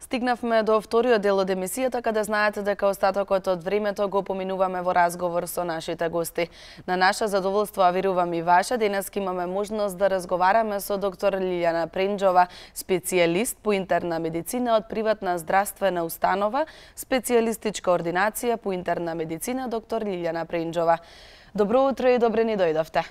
Стигнавме до вториот дел од емисијата, каде знаете дека остатокот од времето го поминуваме во разговор со нашите гости. На наше задоволство, а верувам и ваше, денес имаме можност да разговараме со доктор Лилјана Пренџова, специјалист по интерна медицина од приватна здравствена установа, специјалистичка ординација по интерна медицина, доктор Лилјана Пренџова. Добро утро и добре ни дојдовте.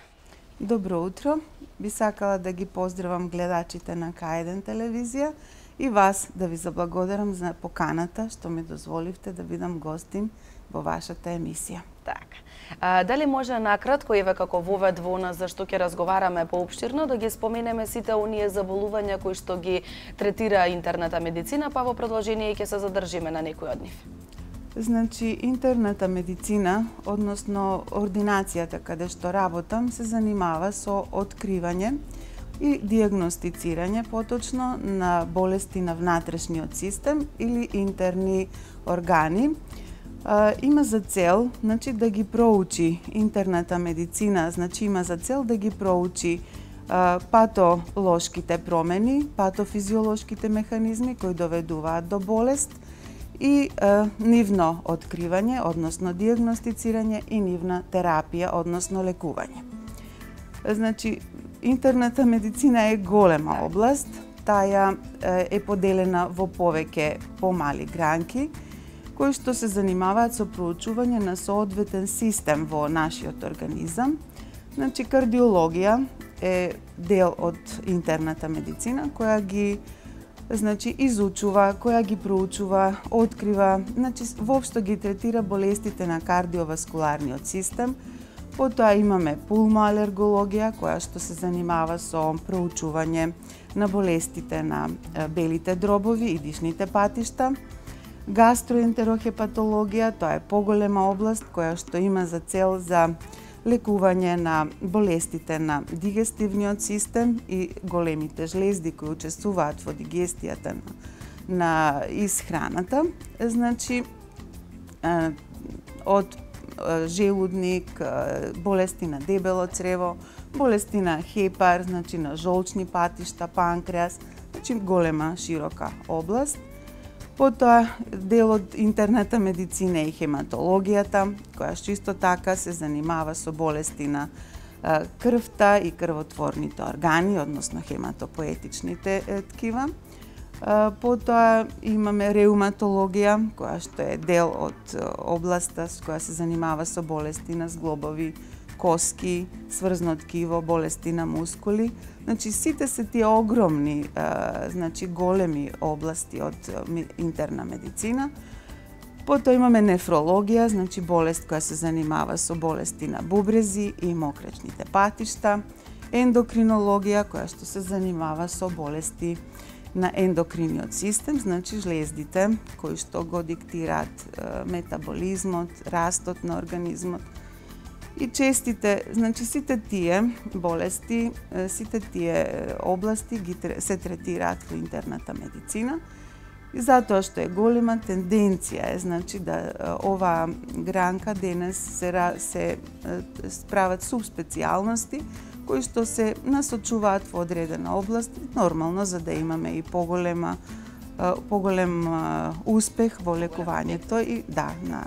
Добро утро. Би сакала да ги поздравам гледачите на К1 телевизија и вас да ви заблагодарам за поканата што ми дозволивте да бидам гостин во вашата емисија. Така. Дали може накратко, еве како вовед во нас за што ќе разговараме поопштирно, да ги споменеме сите оние заболувања кои што ги третира интерната медицина, па во продолжение ќе се задржиме на некој од нив? Значи, интерната медицина, односно ординацијата каде што работам, се занимава со откривање и диагностицирање поточно на болести на внатрешниот систем или интерни органи. Има за цел, значи, да ги проучи интерната медицина, значи има за цел да ги проучи патолошките промени, патофизиолошките механизми кои доведуваат до болест и нивно откривање, односно диагностицирање и нивна терапија, односно лекување. Значи, интерната медицина е голема област, таа е поделена во повеќе помали гранки, кои што се занимаваат со проучување на соодветен систем во нашиот организам. Значи, кардиологија е дел од интерната медицина, која ги изучува, која ги проучува, открива, значи воопшто ги третира болестите на кардиоваскуларниот систем. Потоа имаме пулмоалергологија, која што се занимава со проучување на болестите на белите дробови и дишните патишта. Гастроентерохепатологија, тоа е поголема област која што има за цел за лекување на болестите на дигестивниот систем и големите жлезди кои учествуваат во дигестијата на исхраната. Значи, од желудник, болести на дебело црево, болести на хепар, значи на жолчни патишта, панкреас, значи голема, широка област. Потоа, дел од интерната медицина е хематологијата, која што исто така се занимава со болести на крвта и крвотворните органи, односно хематопоетичните ткива. Потоа имаме реуматологија, која што е дел од областа која се занимава со болести на зглобови, коски, сврзно ткиво, болести на мускули. Значи, сите се тие огромни, значи големи области од интерна медицина. Потоа имаме нефрологија, значи болест која се занимава со болести на бубрези и мокречните патишта. Ендокринологија, која што се занимава со болести на ендокриниот систем, значи жлездите кои што го диктираат метаболизмот, растот на организмот. И честите, значи сите тие болести, сите тие области се третираат во интерната медицина. И затоа што е голема тенденција е, значи, да оваа гранка денес се прават субспецијалности кои што се насочуваат во одредена област, нормално за да имаме и поголем успех во лекувањето и на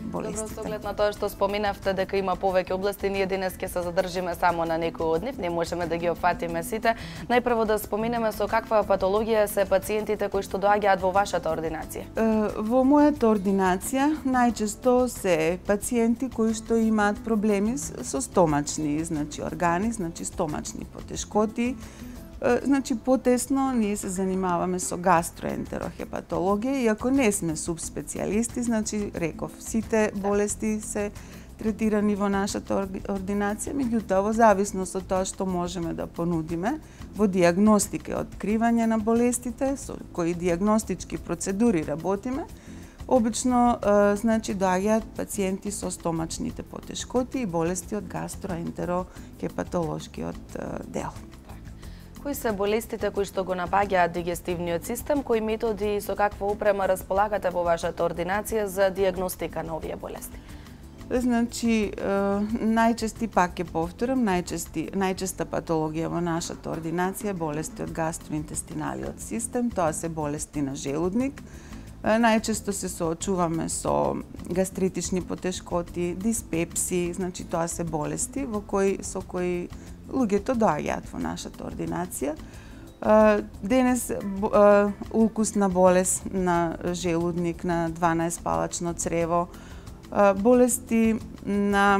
болестите. Добро, со оглед на тоа што споменавте дека има повеќе области, ние денес ќе се задржиме само на некој од нив, не можеме да ги опфатиме сите. Најпрво да споменеме со каква патологија се пациентите кои што доаѓаат во вашата ординација. Во мојата ординација најчесто се пациенти кои што имаат проблеми со стомачни, значи органи, значи стомачни потешкоти. Значи, потесно ние се занимаваме со гастроентерохепатологија, иако не сме субспецијалисти, значи, реков, сите болести се третирани во нашата ординација, меѓутоа, во зависност од тоа што можеме да понудиме во диагностика и откривање на болестите, со кои диагностички процедури работиме, обично, значи, доаѓаат пациенти со стомачните потешкоти и болести од гастроентерохепатолошкиот дел. Кои се болестите кои што го напаѓаат дигестивниот систем, кои методи и со каква опрема располагате во вашата ординација за диагностика на овие болести? Значи, најчести, пак ќе повторам, најчеста патологија во нашата ординација е болести од гастроинтестиналиот систем, тоа се болести на желудник. Најчесто се соочуваме со гастритични потешкоти, диспепсии, значи тоа се болести со кои луѓето доаѓаат во нашата ординација. Денес улкусна болест на желудник, на 12-палачно црево, болести на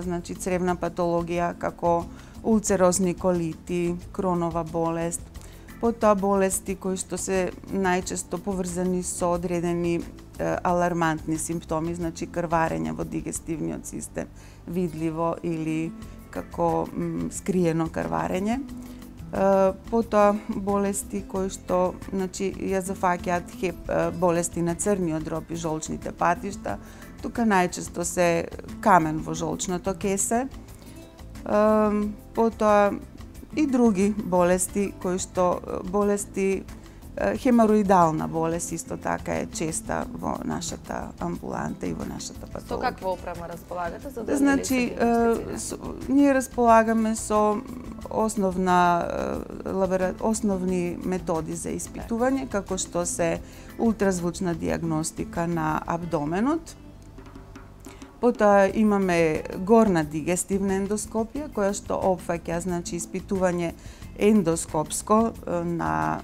значи цревна патологија како улцерозни колити, кронова болест, потоа болести кои што се најчесто поврзани со одредени алармантни симптоми, значи крварење во дигестивниот систем, видливо или како скриено крварење. Потоа болести кои што ја зафаќаат болести на црниот дроб и жолчните патишта. Тука најчесто се камен во жолчното кесе. Потоа и други болести кои што хемороидална болест исто така е честа во нашата амбуланта и во нашата патологија. Со каква опрема располагате за да Значи, ние располагаме со основни методи за испитување, како што се ултразвучна дијагностика на абдоменот. Потоа имаме горна дигестивна ендоскопија, која што опфаќа, значи, испитување ендоскопско на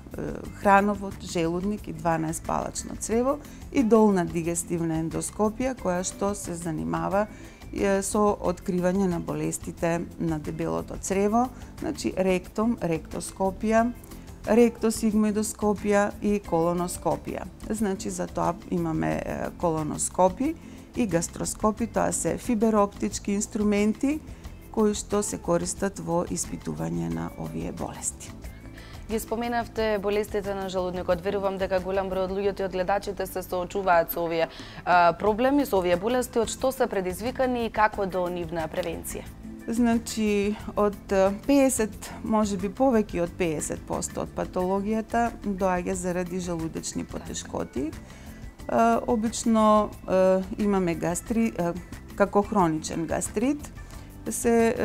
храновот, желудник и 12-палачно црево, и долна дигестивна ендоскопија, која што се занимава со откривање на болестите на дебелото црево, значи ректом, ректоскопија, ректосигмоидоскопија и колоноскопија. Значи, за тоа имаме колоноскопи и гастроскопи, тоа се фибероптички инструменти кои што се користат во испитување на овие болести. Ги споменавте болестите на желудникот. Верувам дека голем број од луѓето и од гледачите се соочуваат со овие проблеми, со овие болести, од што се предизвикани и како до нивна превенција? Значи, од 50, можеби повеќе од 50% од патологијата доаѓа заради желудечни потешкоти. Обично имаме како хроничен гастрит, се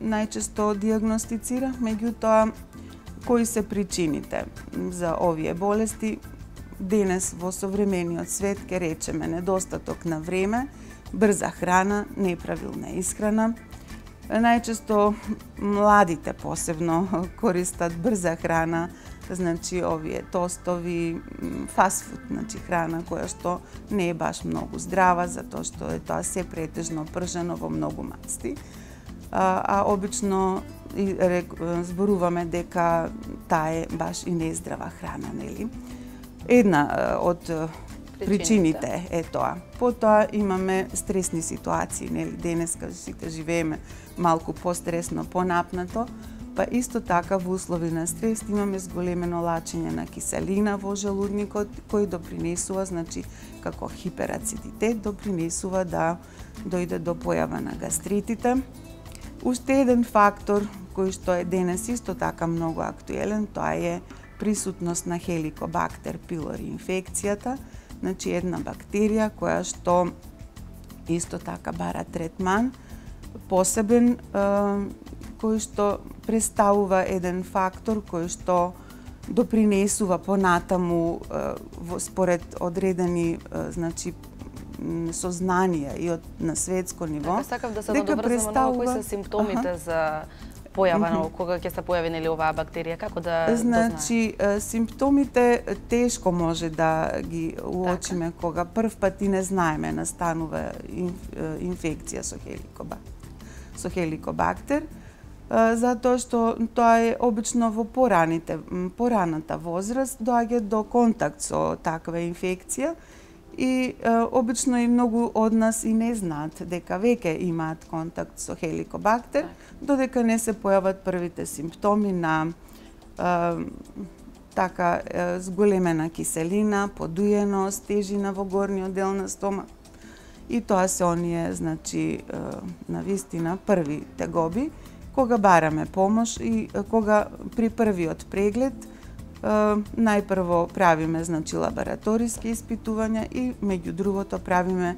најчесто дијагностицира, меѓутоа кои се причините за овие болести? Денес во современиот свет ќе речеме недостаток на време, брза храна, неправилна исхрана. Најчесто младите посебно користат брза храна, значи овие тостови, фастфуд, значи храна која што не е баш многу здрава, затоа што е тоа се претежно пржено во многу мацти. А обично зборуваме дека таа е баш и нездрава храна, нели? Една од причините е тоа. Потоа имаме стресни ситуации, нели? Денеска сите живееме малку постресно, понапнато, па исто така во услови на стрес имаме зголемено лачење на киселина во желудникот, кој допринесува, значи, како хиперацидитет, допринесува да дојде до појава на гастритите. Уште еден фактор кој што е денес исто така многу актуелен, тоа е присутност на хеликобактер пилори инфекцијата, значи една бактерија која што исто така бара третман посебен, кој што представува еден фактор кој што допринесува понатаму според одредени, значи, сознанија и на светско ниво. Така сакав да се надоврзам на кои се симптомите за појава на кога ќе се појави нели оваа бактерија, како да Значи, симптомите тешко може да ги уочиме кога прв пат и не знаеме настанува инфекција со хеликобактер, затоа што тоа е обично во пораната возраст доаѓа до контакт со таква инфекција и обично и многу од нас и не знаат дека веќе имаат контакт со хеликобактер, додека не се појават првите симптоми на така зголемена киселина, подуеност, тежина во горниот дел на стомак. И тоа се оние, значи, навистина први тегоби, кога бараме помош и кога при првиот преглед најпрво правиме значи лабораториски испитувања и меѓу другото правиме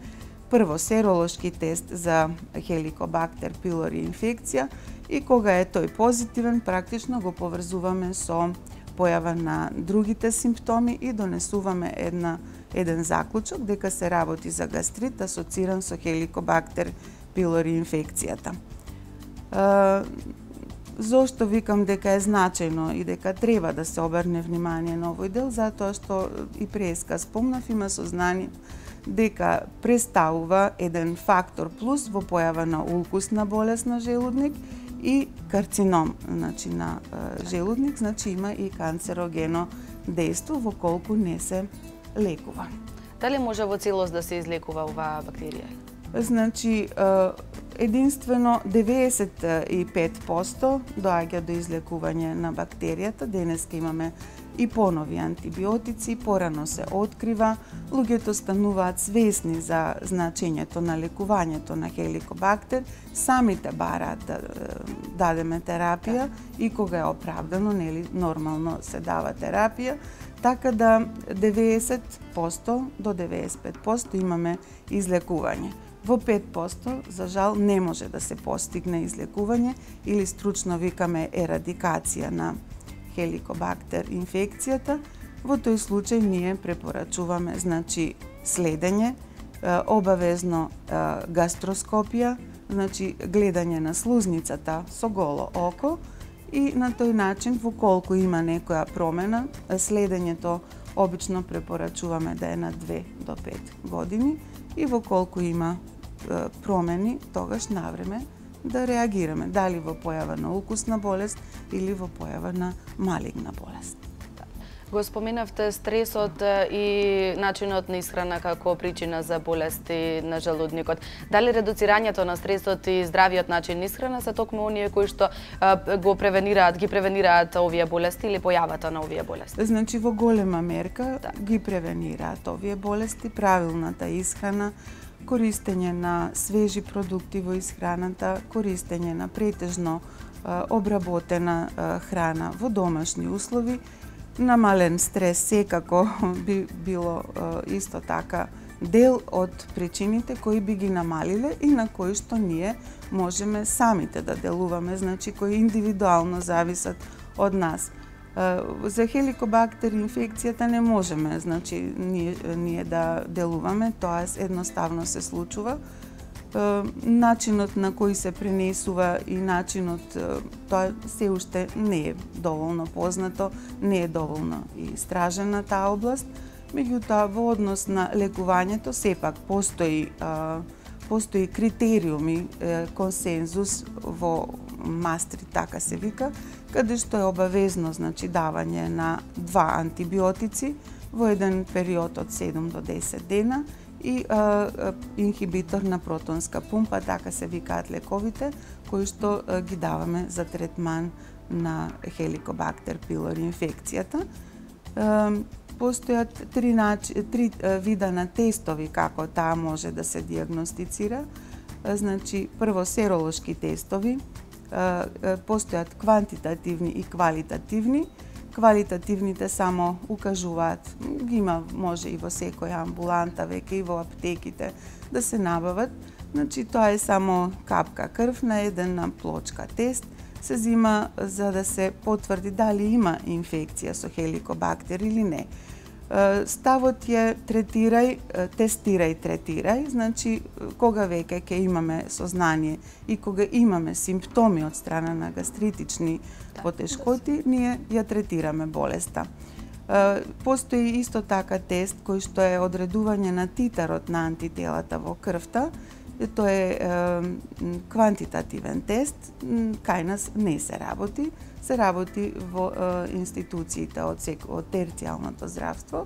прво серолошки тест за Helicobacter pylori инфекција и кога е тој позитивен, практично го поврзуваме со појава на другите симптоми и донесуваме еден заклучок дека се работи за гастрит асоциран со Helicobacter pylori инфекцијата. Зошто викам дека е значајно и дека треба да се обрне внимание на овој дел, затоа што и преска спомнав, има сознание дека представува еден фактор плюс во појава на улкусна болест на желудник и карцином, значи на желудник, значи има и канцерогено дејство во колку не се лекува. Дали може во целост да се излекува оваа бактерија? Значи, единствено 95% доаѓа до излекување на бактеријата. Денеска имаме и понови антибиотици, порано се открива, луѓето стануваат свесни за значењето на лекувањето на Helicobacter, самите бараат да дадеме терапија и кога е оправдано, нели, нормално се дава терапија, така да 90% до 95% имаме излекување. Во 5%, за жал, не може да се постигне излекување или стручно викаме ерадикација на Helicobacter инфекцијата. Во тој случај ние препорачуваме значи следење, обавезно гастроскопија, значи гледање на слузницата со голо око и на тој начин во колку има некоја промена, следењето обично препорачуваме да е на 2 до 5 години и во колку има промени, тогаш навреме да реагираме, дали во појава на укусна болест или во појава на малигна болест. Го споменавте стресот и начинот на исхрана како причина за болести на желудникот. Дали редуцирањето на стресот и здравиот начин на исхрана се токму оние кои што ги превенираат овие болести или појавата на овие болести? Значи во голема мерка ги превенираат овие болести, правилната исхрана, користење на свежи продукти во исхраната, користење на претежно обработена храна во домашни услови, намален стрес секако би било исто така дел од причините кои би ги намалиле и на кои што ние можеме самите да делуваме, значи кои индивидуално зависат од нас. За Helicobacter инфекцијата не можеме, значи ние да делуваме, тоа едноставно се случува. Начинот на кој се пренесува и начинот, тоа се уште не е доволно познато, не е доволно истражена таа област. Меѓутоа, во однос на лекувањето, сепак постои критериуми, консензус во Мастрит, така се вика, каде што е обавезно, значи, давање на 2 антибиотици во еден период од 7 до 10 дена и инхибитор на протонска пумпа, така се викаат лековите, кои што ги даваме за третман на Helicobacter pylori инфекцијата. Постојат 3 вида на тестови како таа може да се диагностицира. Значи, прво серолошки тестови, постојат квантитативни и квалитативни. Квалитативните само укажуваат, ги има може и во секоја амбуланта, веќе и во аптеките да се набават. Значи, тоа е само капка крв на една плочка тест, се зима за да се потврди дали има инфекција со Helicobacter или не. Ставот е тестирај, третирај, значи кога веќе ќе имаме сознание и кога имаме симптоми од страна на гастритични потешкоти, ние ја третираме болеста. Постои исто така тест кој што е одредување на титарот на антителата во крвта. Тоа е квантитативен тест, кај нас не се работи во институциите од терцијалното здравство.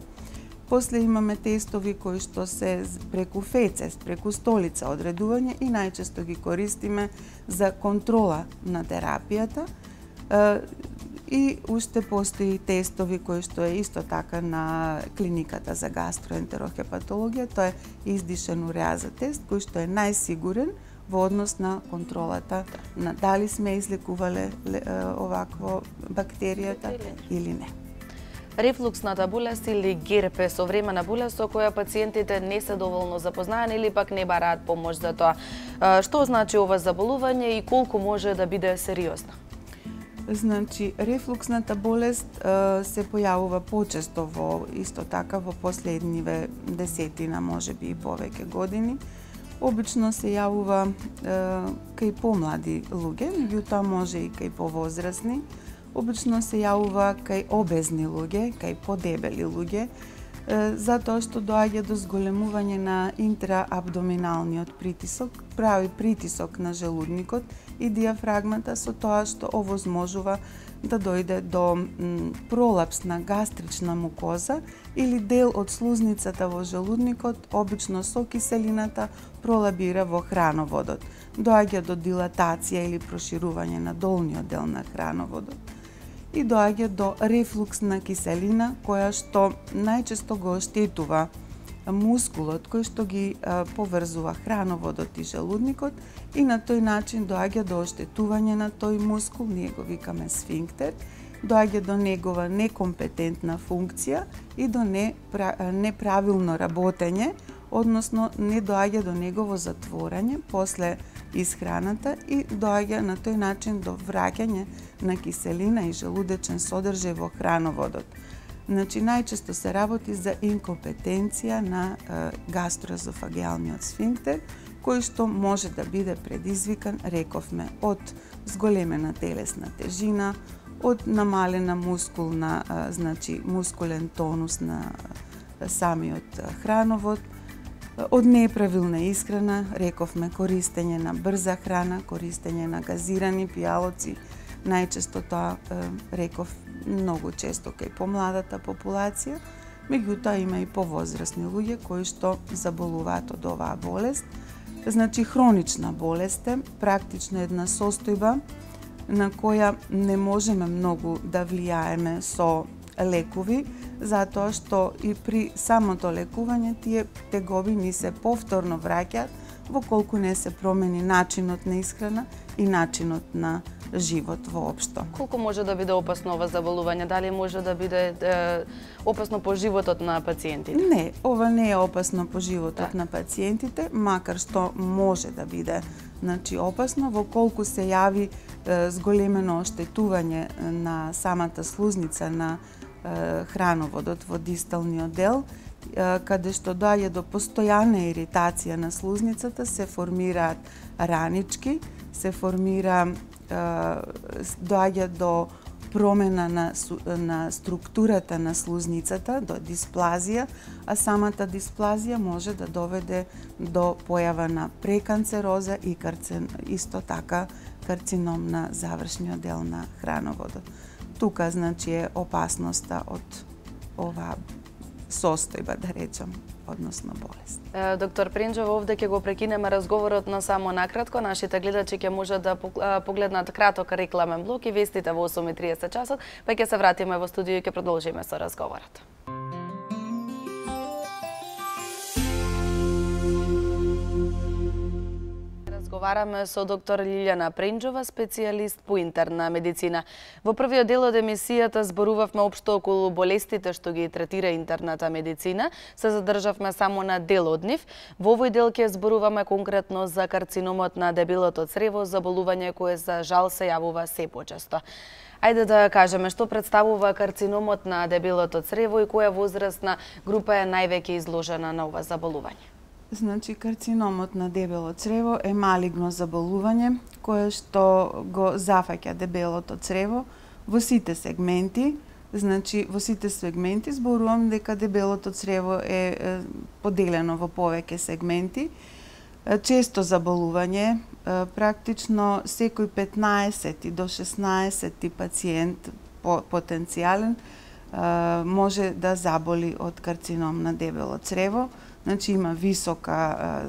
После имаме тестови кои што се преку фецес, преку столица одредување и најчесто ги користиме за контрола на терапијата. И уште постои тестови кои што е исто така на клиниката за гастроентерохепатологија, тоа е издишен уреаза тест кој што е најсигурен во однос на контролата на дали сме излекувале овакво бактеријата или не. Рефлуксната болест или ГЕРП е современа болест со која пациентите не се доволно запознаени или пак не бараат помош за тоа. Што значи ова заболување и колку може да биде сериозна? Значи, рефлуксната болест се појавува почесто исто така во последниве десетина, можеби и повеќе години. Обично се јавува кај помлади луѓе, меѓутоа може и кај повозрасни. Обично се јавува кај обезни луѓе, кај подебели луѓе, затоа што доаѓа до зголемување на интраабдоминалниот притисок, прави притисок на желудникот и диафрагмата, со тоа што овозможува да дојде до пролапс на гастрична мукоза или дел од слузницата во желудникот, обично со киселината, пролабира во храноводот. Доаѓа до дилатација или проширување на долниот дел на храноводот и доаѓа до рефлуксна киселина, која што најчесто го оштетува мускулот кој што ги поврзува храноводот и желудникот и на тој начин доаѓа до оштетување на тој мускул, ние го викаме сфинктер, доаѓа до негова некомпетентна функција и до неправилно работење, односно не доаѓа до негово затворање после исхраната и доаѓа на тој начин до враќање на киселина и желудечен содржај во храноводот. Значи, најчесто се работи за инкомпетенција на гастроезофагеалниот сфинктер, кој што може да биде предизвикан, рековме, од зголемена телесна тежина, од намалена мускулна, значи мускулен тонус на самиот храновод, од неправилна исхрана, рековме користење на брза храна, користење на газирани пијалоци, најчесто тоа реков многу често кај помладата популација, меѓутоа има и повозрасни луѓе кои што заболуваат од оваа болест. Значи, хронична болест е практично една состојба на која не можеме многу да влијаеме со лекови, затоа што и при самото лекување тие тегоби ни се повторно враќаат во колку не се промени начинот на исхрана и начинот на живот воопшто. Колку може да биде опасно ова заболување? Дали може да биде опасно по животот на пациентите? Не, ова не е опасно по животот на пациентите, макар што може да биде опасно во колку се јави зголемено оштетување на самата слузница на храноводот во дисталниот дел, каде што доаѓа до постојана иритација на слузницата, се формираат ранички, се формира доаѓа до промена на структурата на слузницата, до дисплазија, а самата дисплазија може да доведе до појава на преканцероза и исто така карцином на завршниот дел на храноводот. Тука, значи, е опасноста од оваа состојба, да речам, односно болест. Доктор Пренџова, овде ќе го прекинеме разговорот на само накратко. Нашите гледачи ќе можат да погледнат краток рекламен блок и вестите во 8:30 часот, па ќе се вратиме во студио и ќе продолжиме со разговорот. Разговараме со доктор Лилјана Пренџова, специјалист по интерна медицина. Во првиот дел од емисијата зборувавме општо околу болестите што ги третира интерната медицина. Се задржавме само на дел од нив. Во овој дел ќе зборуваме конкретно за карциномот на дебелото црево, заболување кое за жал се јавува се почесто. Ајде да кажеме што представува карциномот на дебелото црево и која возрастна група е највеќе изложена на ова заболување. Значи, карциномот на дебело црево е малигно заболување кое што го зафаќа дебелото црево во сите сегменти. Значи, во сите сегменти зборувам дека дебелото црево е поделено во повеќе сегменти. Често заболување, практично секој 15 до 16 пациент потенцијален може да заболи од карцином на дебело црево. Значи, има висока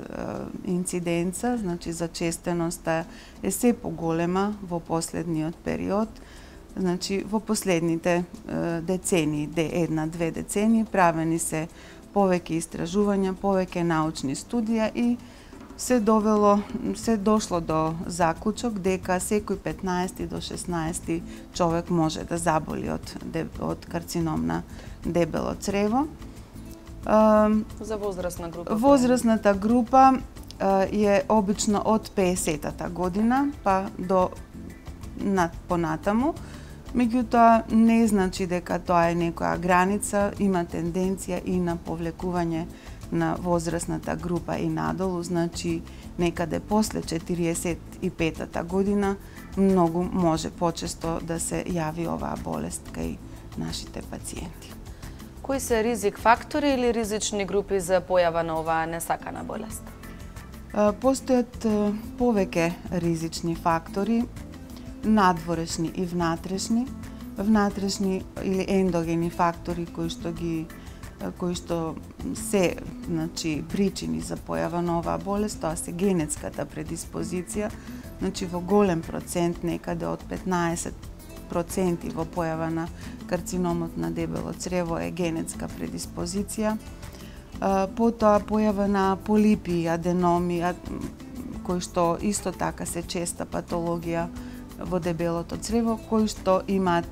инциденца, значи зачестеноста е се поголема во последниот период. Значи, во последните децении, една-две децении, правени се повеќе истражувања, повеќе научни студија и се дошло до заклучок дека секој 15 до 16 човек може да заболи од карцином на дебело црево. За возрастна група? Возрастната група е обично од 50-та година па до понатаму. Меѓутоа, не значи дека тоа е некоја граница, има тенденција и на повлекување на возрастната група и надолу, значи некаде после 45-та година многу може почесто да се јави оваа болест кај нашите пациенти. Кои се ризик фактори или ризични групи за појава на оваа несакана болест? Постојат повеќе ризични фактори, надворешни и внатрешни. Внатрешни или ендогени фактори кои што се, значи, причини за појава на оваа болест, тоа се генетската предиспозиција, значи во голем процент, некаде од 15% во појава на карциномот на дебело црево е генетска предиспозиција. Потоа појава на полипи и аденоми, кои што исто така се честа патологија во дебелото црево, кои што имаат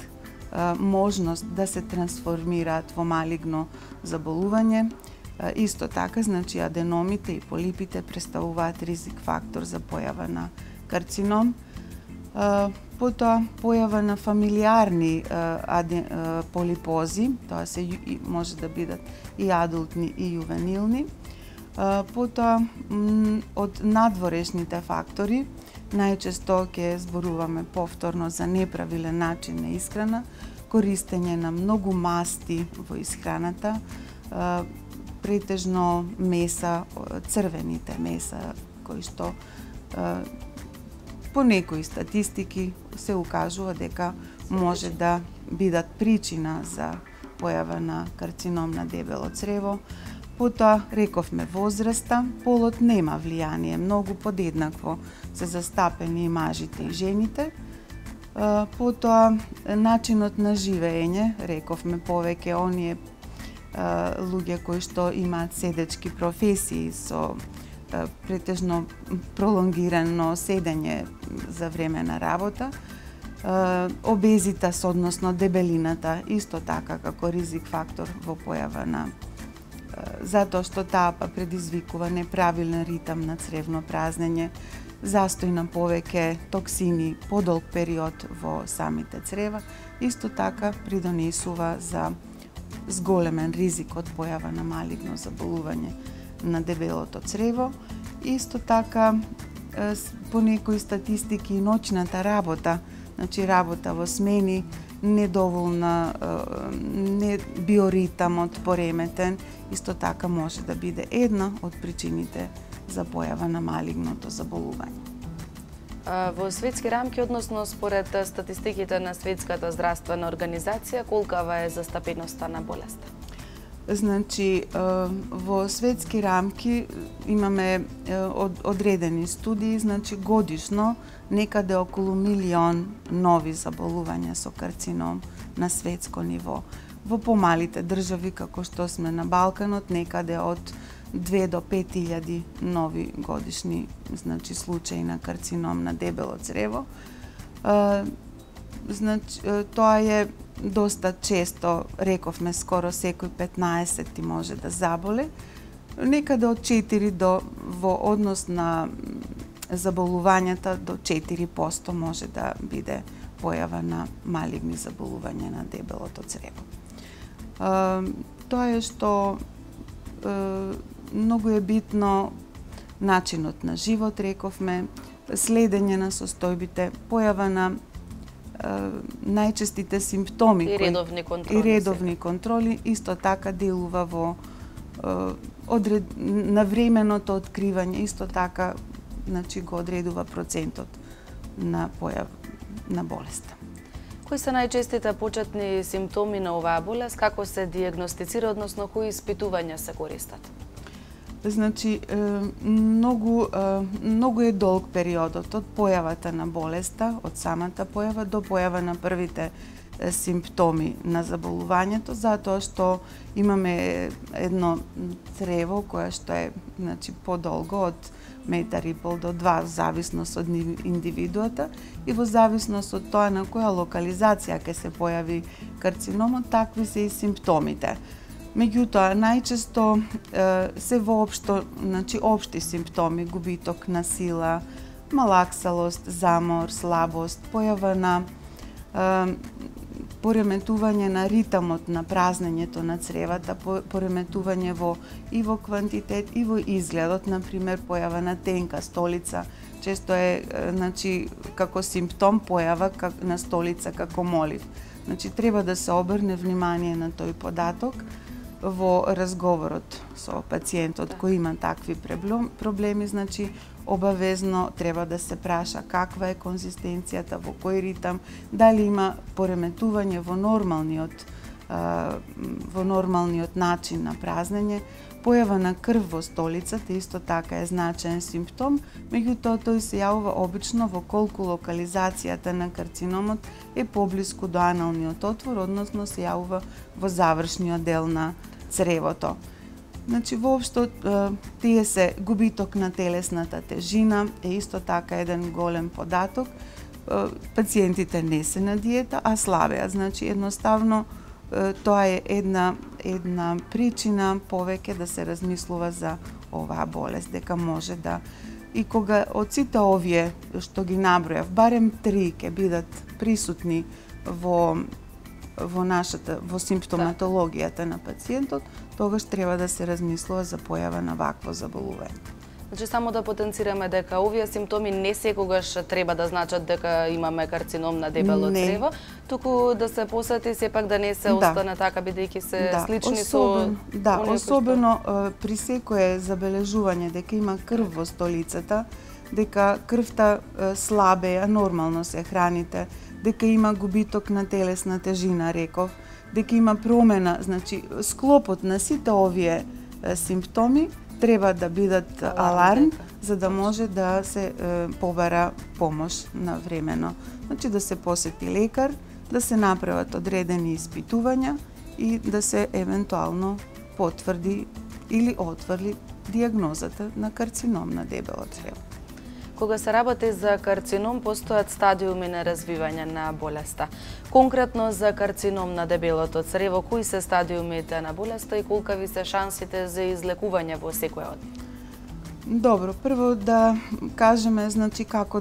можност да се трансформираат во малигно заболување. Исто така, значи, аденомите и полипите представуваат ризик фактор за појава на карцином. Потоа, појава на фамилиарни полипози, тоа се може да бидат и адултни и јувенилни. Потоа, од надворешните фактори, најчесто ќе зборуваме повторно за неправилен начин на исхрана, користење на многу масти во исхраната, претежно меса, црвените меса, кои што по некои статистики се укажува дека може да бидат причина за појава на карцином на дебело црево. Потоа, рековме возраста, полот нема влијание, многу подеднакво се застапени и мажите и жените. Потоа, начинот на живење, рековме повеќе оние луѓе кои што имаат седечки професии со претежно пролонгирано седење за време на работа. Обезитас, односно дебелината, исто така како ризик фактор во појава на затоа што таа предизвикува неправилен ритам на цревно празнење, застој на повеќе токсини, подолг период во самите црева, исто така придонесува за зголемен ризик од појава на малигно заболување на дебелото црево. Исто така, по некои статистики, ноќната работа, значи работа во смени, недоволна, не биоритамот пореметен, исто така може да биде една од причините за појава на малигното заболување. Во светски рамки, односно според статистиките на Светската здравствена организација, колкава е застапеноста на болеста? Значи, во светски рамки имаме одредени студии, значи годишно некаде околу 1 милион нови заболувања со карцином на светско ниво. Во помалите држави, како што сме на Балканот, некаде од 2 до 5.000 нови годишни, значи, случаи на карцином на дебело црево. Значи, тоа е доста често, рековме, скоро секој 15 може да заболе. Некаде од 4 до, во однос на заболувањата, до 4% може да биде појава на малигни заболувања на дебелото црево. Тоа е што многу е битно начинот на живот, рековме, следење на состојбите, појава на најчестите симптоми и редовни контроли, исто така делува во навременото откривање, исто така, значи, го одредува процентот на појава на болеста. Кои се најчестите почетни симптоми на оваа болест, како се диагностицира, односно кои испитувања се користат? Значи, многу е долг периодот од појавата на болеста, од самата појава до појава на првите симптоми на заболувањето, затоа што имаме едно црево кое што е, значи, подолго од метар и пол до 2, зависност од индивидуата и во зависност од тоа на која локализација ќе се појави карциномот, такви се и симптомите. Меѓутоа, најчесто се воопшто, значи општи симптоми, губиток на сила, малаксалост, замор, слабост, појава на пореметување на ритмот на празнењето на цревата, пореметување и во квантитет и во изгледот, например појава на тенка столица, често е значи како симптом појава на столица како молив. Значи треба да се обрне внимание на тој податок во разговорот со пациентот кој има такви проблеми, значи обавезно треба да се праша каква е конзистенцијата, во кој ритам, дали има пореметување во нормалниот начин на празнење. Појава на крв во столицата исто така е значаен симптом, меѓутоа тој се јавува обично во колку локализацијата на карциномот е поблиску до аналниот отвор, односно се јавува во завршниот дел на цревото. Значи, воопшто, тие се губиток на телесната тежина, е исто така еден голем податок. Пациентите не се на диета, а слабеа. Значи, едноставно, тоа е една причина повеќе да се размислува за оваа болест, дека може да... И кога од сите овие што ги набројав, барем 3 ќе бидат присутни во симптоматологијата на пациентот, тогаш треба да се размислува за појава на вакво заболување. Значи, само да потенцираме дека овие симптоми не секогаш треба да значат дека имаме карцином на дебело црево, туку да се посети сепак да не се остане така, бидејќи се слични со... Да, особено при секое забележување дека има крв во столицата, дека крвта слабеја, нормално се храните, дека има губиток на телесна тежина, реков, дека има промена, значи склопот на сите овие симптоми треба да бидат аларм, за да може да се побара помош на времено. Значи да се посети лекар, да се направат одредени испитувања и да се евентуално потврди или отврли дијагнозата на карцином на дебело црево. Кога се работи за карцином, постојат стадиуми на развивање на болеста. Конкретно за карцином на дебелото црево, кои се стадиумите на болеста и колкави се шансите за излекување во секој од нив? Добро, прво да кажеме значи како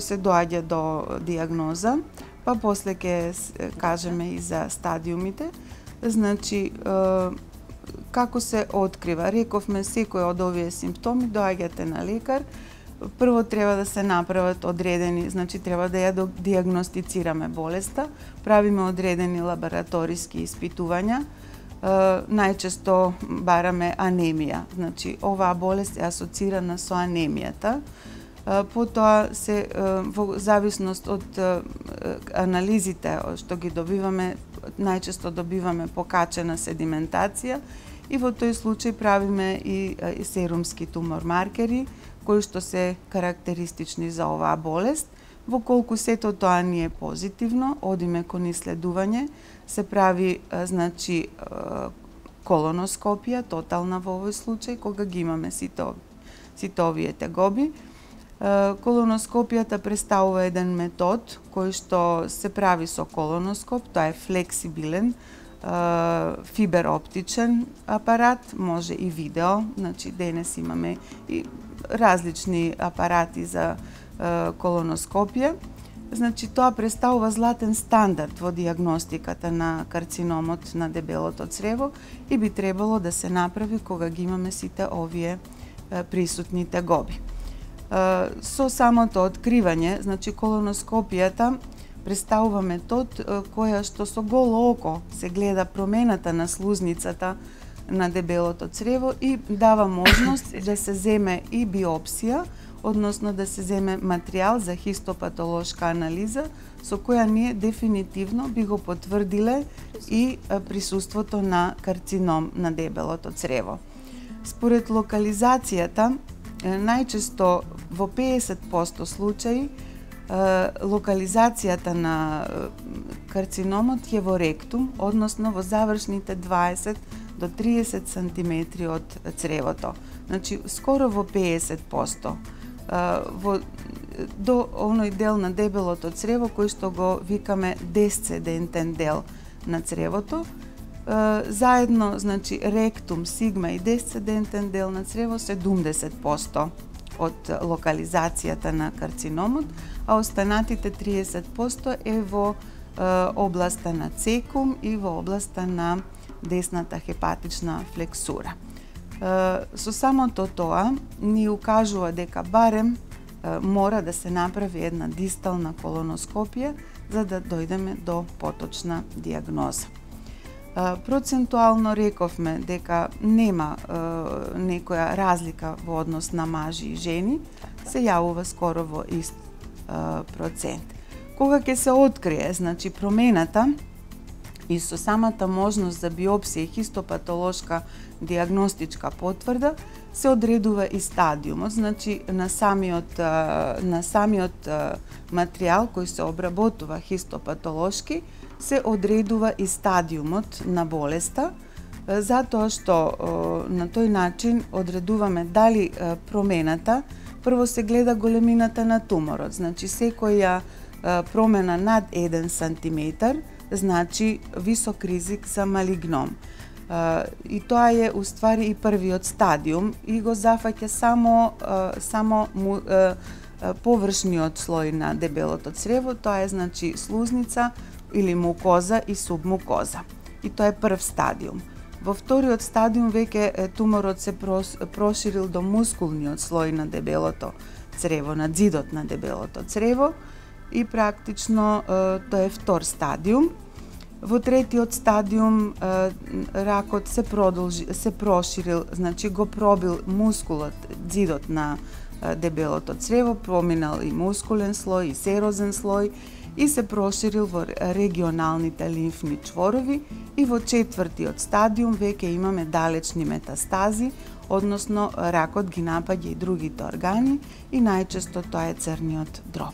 се доаѓа до дијагноза, па после ќе кажеме и за стадиумите. Значи како се открива? Рековме, секој од овие симптоми доаѓате на лекар. Прво треба да се направат одредени, значи треба да ја дијагностицираме болеста, правиме одредени лабораториски испитувања. Најчесто бараме анемија, значи оваа болест е асоцирана со анемијата. Потоа се во зависност од анализите што ги добиваме, најчесто добиваме покачена седиментација и во тој случај правиме и серумски тумор маркери кои што се карактеристични за оваа болест. Во колку сето тоа ни е позитивно, одиме кон исследување, се прави значи колоноскопија тотална во овој случај кога ги имаме сите овие тегоби. Колоноскопијата представува еден метод кој што се прави со колоноскоп, тоа е флексибилен фибероптичен апарат, може и видео, значи денес имаме и различни апарати за колоноскопија. Значи тоа представува златен стандард во дијагностиката на карциномот на дебелото црево и би требало да се направи кога ги имаме сите овие присутни тегоби. Со самото откривање, значи колоноскопијата представува метод која што со голо око се гледа промената на слузницата на дебелото црево и дава можност да се земе и биопсија, односно да се земе материјал за хистопатолошка анализа, со која ние дефинитивно би го потврдиле и присуството на карцином на дебелото црево. Според локализацијата, најчесто во 50% случаи локализацијата на карциномот е во ректум, односно во завршните 20 до 30 сантиметри од цревото. Значи, скоро во 50%. До оној дел на дебелото црево кој што го викаме десцендентен дел на цревото, заедно, значи, ректум, сигма и десцендентен дел на црево 70% од локализацијата на карциномот, а останатите 30% е во областа на цекум и во областа на десната хепатична флексура. Со самото тоа ни укажува дека барем мора да се направи една дистална колоноскопија за да дојдеме до поточна дијагноза. Процентуално рековме дека нема некоја разлика во однос на мажи и жени, се јавува скоро во ист процент. Кога ќе се открие, значи, промената и со самата можност за биопсија и хистопатолошка диагностичка потврда, се одредува и стадиумот, значи на самиот материјал кој се обработува хистопатолошки, се одредува и стадиумот на болеста, затоа што на тој начин одредуваме дали промената, прво се гледа големината на туморот, значи секоја промена над 1 сантиметар, значи висок ризик за малигном. И тоа е уствари и првиот стадиум и го зафаќа само површниот слој на дебелото црево, тоа е, значи, слузница или мукоза и субмукоза. И тоа е прв стадиум. Во вториот стадиум веќе туморот се проширил до мускулниот слој на дебелото црево, на ѕидот на дебелото црево и практично тоа е втор стадиум. Во третиот стадиум ракот се проширил, значи го пробил мускулот, ѕидот на дебелото црево, проминал и мускулен слој и серозен слој и се проширил во регионалните лимфни чворови и во четвртиот стадиум веќе имаме далечни метастази, односно ракот ги напаѓа и другите органи и најчесто тоа е црниот дроб.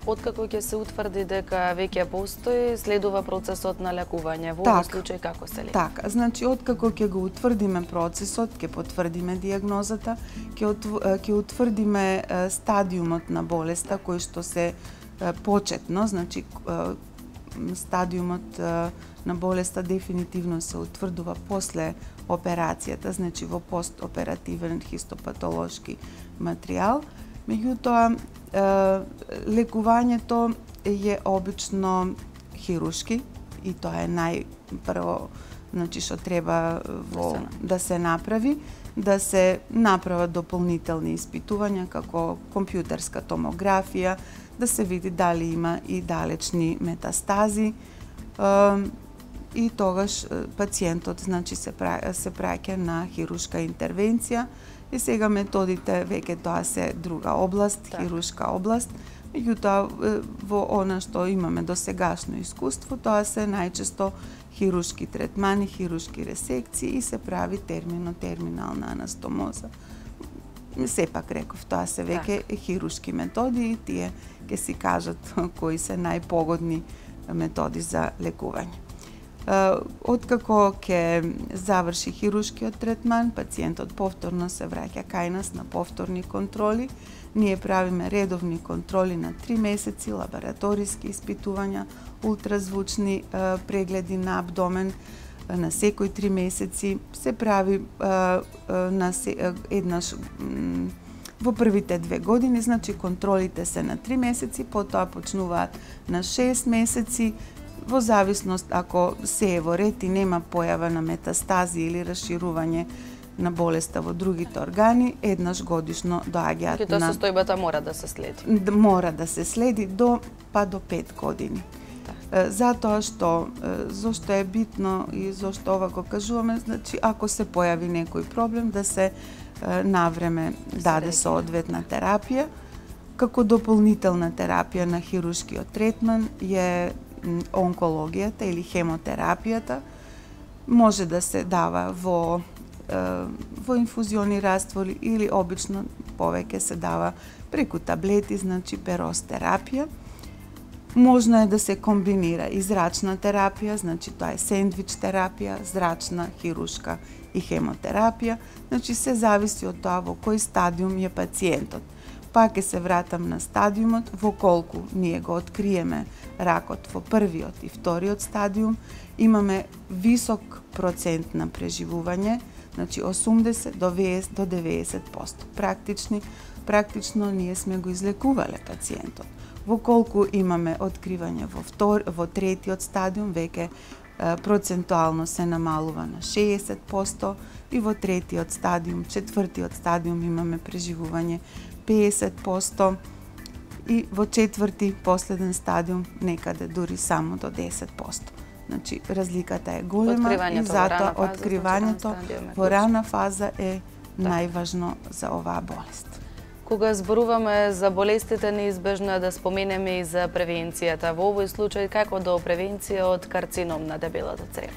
Откако ќе се утврди дека веќе постои, следува процесот на лекување. Во овој случај како се лекува? Така, значи откако ќе го утврдиме процесот, ќе потврдиме дијагнозата, ќе утврдиме стадиумот на болеста кој што се почетно, значи стадиумот на болеста дефинитивно се утврдува после операцијата, значи во постоперативен хистопатолошки материјал. Меѓутоа, лекувањето е обично хирушки и тоа е најпрво, значи, што треба да се направи, да се направат дополнителни испитувања како компјутерска томографија, да се види дали има и далечни метастази и тогаш пациентот, значи, се праќа на хирушка интервенција. И сега методите веќе тоа се друга област, хирушка област. Меѓутоа, во она што имаме до сегашно искуство, тоа се најчесто хирушки третмани, хирушки ресекции и се прави терминална анастомоза. Сепак реков, тоа се веќе хирушки методи и тие ќе си кажат кои се најпогодни методи за лекување. Откако ќе заврши хирушкиот третман, пациентот повторно се враќа кај нас на повторни контроли. Ние правиме редовни контроли на 3 месеци, лабораториски испитувања, ултразвучни прегледи на абдомен на секој 3 месеци. Се прави еднаш во првите 2 години, значи контролите се на 3 месеци, потоа почнуваат на 6 месеци, во зависност ако се е во ред и нема појава на метастази или расширување на болеста во другите органи, еднаш годишно доаѓаат на... состојбата мора да се следи. Мора да се следи до 5 години. Затоа што, зошто е битно и зошто ова го кажуваме, значи ако се појави некој проблем, да се навреме даде соодветна терапија. Како дополнителна терапија на хирушкиот третман е онкологијата или хемотерапијата. Може да се дава во инфузиони раствори или обично повеќе се дава преку таблети, значи перостерапија. Можно е да се комбинира и зрачна терапија, значи тоа е сендвич терапија, зрачна, хирушка и хемотерапија, значи се зависи од тоа во кој стадиум е пациентот. Пак ќе се вратам на стадиумот, во колку ние го откриеме ракот во првиот и вториот стадиум, имаме висок процент на преживување, значи 80 до 90%. Практично ние сме го излекувале пациентот. Во колку имаме откривање во третиот стадиум, веќе процентуално се намалува на 60% и во третиот стадиум, четвртиот стадиум имаме преживување 50% и во четврти, последен стадиум, некаде дури само до 10%. Значи, разликата е голема и затоа откривањето во рана фаза е најважно за оваа болест. Кога зборуваме за болестите, неизбежно е да споменеме и за превенцијата. Во овој случај, како до превенција од карцином на дебелото црево?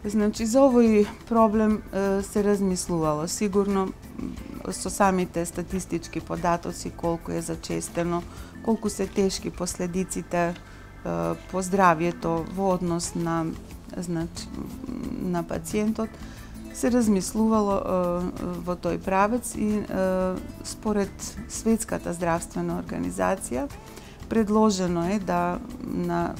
Значи, за овој проблем се размислувало. Сигурно со самите статистички податоци, колку е зачестено, колку се тешки последиците по здравието во однос на пациентот, се размислувало во тој правец и според Светската здравствена организација предложено е да на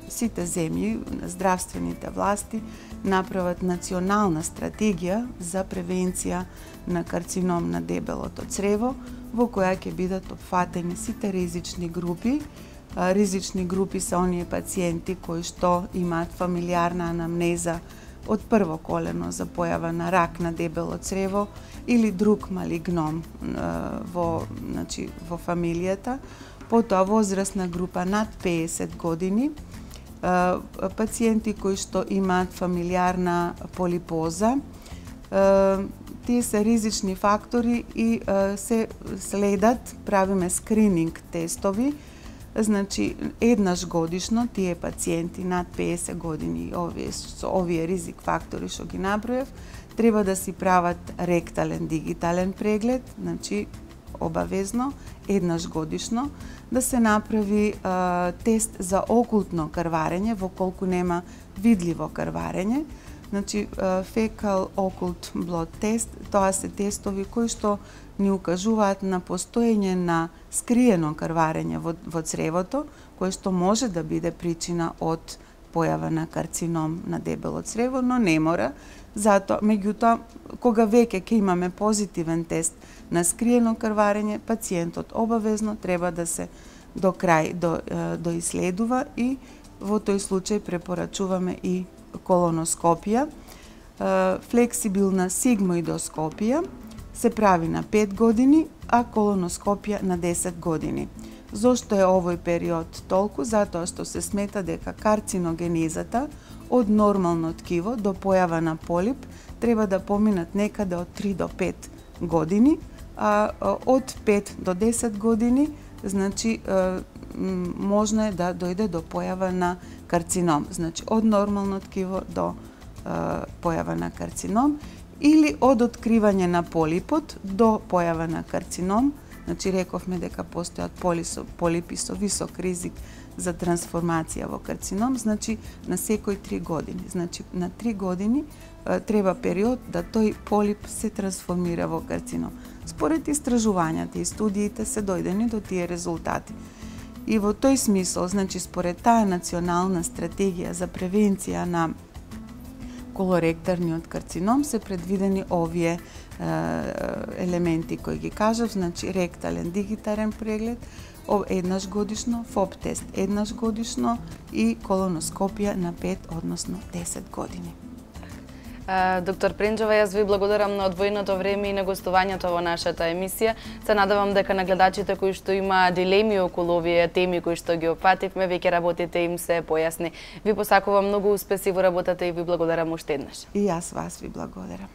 сите земји, здравствените власти направат национална стратегија за превенција на карцином на дебелото црево, во која ќе бидат опфатени сите ризични групи. Ризични групи се оние пациенти кои што имаат фамилиарна анамнеза од прво колено за појава на рак на дебело црево или друг малигном во фамилијата, потоа возрастна група над 50 години, пациенти кои што имаат фамилиарна полипоза, тие се ризични фактори и се следат, правиме скрининг тестови. Значи, еднаш годишно тие пациенти над 50 години, овие ризик фактори што ги наброев, треба да си прават ректален дигитален преглед, значи обавезно, еднаш годишно, да се направи тест за окултно крварење, во колку нема видливо крварење. Значи, fecal occult blood test, тоа се тестови кои што ни укажуваат на постоење на скриено крварење во цревото, кое што може да биде причина од појава на карцином на дебело црево, но не мора. Затоа, меѓутоа, кога веќе ќе имаме позитивен тест на скриено крварење, пациентот обавезно треба да се до крај доиследува и во тој случај препорачуваме и колоноскопија. Флексибилна сигмоидоскопија се прави на 5 години, а колоноскопија на 10 години. Зошто е овој период толку? Затоа што се смета дека карциногенезата од нормално ткиво до појава на полип треба да поминат некаде од 3 до 5 години, а од 5 до 10 години, значи, можно е да дојде до појава на карцином. Значи, од нормално ткиво до појава на карцином, или од откривање на полипот до појава на карцином. Значи, рековме дека постојат полипи со висок ризик за трансформација во карцином, значи на секој 3 години. Значи, на 3 години треба период да тој полип се трансформира во карцином. Според истражувањата и студиите се дојдени до тие резултати. И во тој смисол, значи, според таа национална стратегија за превенција на колоректарниот карцином се предвидени овие елементи кои ги кажав, значи ректален дигитален преглед еднаш годишно, ФОП тест еднаш годишно и колоноскопија на 5, односно 10 години. Доктор Пренџова, јас ви благодарам на одвоеното време и на гостувањето во нашата емисија. Се надевам дека на гледачите кои што има дилеми околу овие теми кои што ги опфативме, веќе работите им се појасни. Ви посакувам многу успеси во работата и ви благодарам уште еднаш. И јас вас ви благодарам.